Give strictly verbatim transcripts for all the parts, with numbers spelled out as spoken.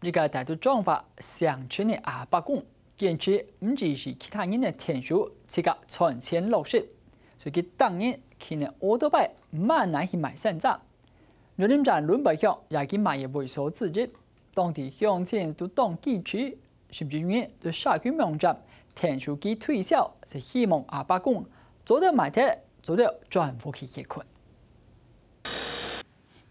一個戴到長髮成群个阿伯公，堅持毋支持其他人个𢯭手，自家賺錢落實。所以佢逐日騎等奧多拜，滿哪去賣山楂。玉林站崙背鄉也係佢賣个會所之一，當地鄉親都當支持，甚至有人在社區網站𢯭手佢推銷，係希望阿伯公做得賣忒，做得轉屋去歇睏。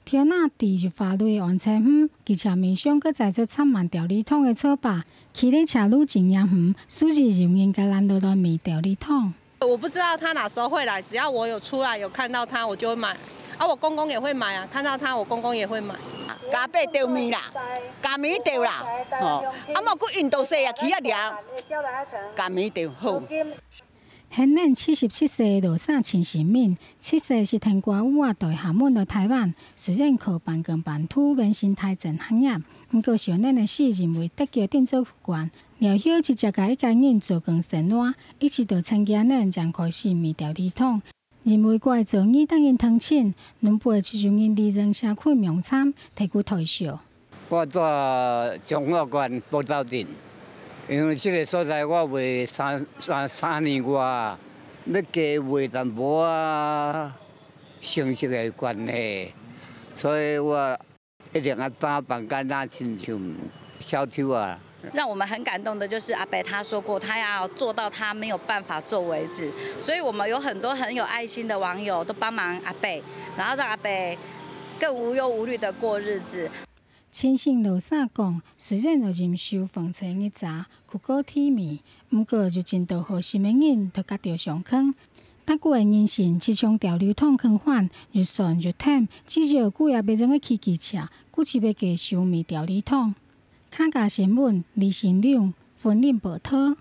天啊，戴入花蕊个安全帽，機車面上閣載出插滿調理糖个草把，騎在車路真嚴遠，時而有人甲攔落來買調理糖。我不知道他哪時候會來，只要我有出來有看到他，我就會買。啊，我公公也會買啊，看到他，我公公也會買。加八條米啦，加米條啦，吼，啊，莫去印度西啊，去啊了，加米條好。 現年七十七歲个羅莎陳新敏，七歲時跈寡母仔對廈門來台灣，雖然靠半工半讀完成大專學業，毋過少年个時因為得腳定做軍官，了後直接甲一家人做工生活，一直到成家年正開始賣調理糖。因為過做義大人同親，崙背就有人利用社區網站提供代銷。 我蹛彰化縣寶斗鎮，因為這个所在我賣三、三、三年外啊，欲加賣淡薄仔，成績个關係，所以我一定愛打扮甲若親像小丑啊。讓我們很感動的就是阿伯他說過，他要做到他沒有辦法做為止，所以我們有很多很有愛心的網友都幫忙阿伯，然後讓阿伯更無憂無慮的過日子。 陳姓羅莎講，雖然有忍受風吹日曬、苦過低迷，毋過有真多好心个人都甲著相牽。逐個个人生就像調理糖共款，又酸又甜，至少久也袂用得騎機車，故此欲繼續賣調理糖。客家新聞，李新良，雲林報導。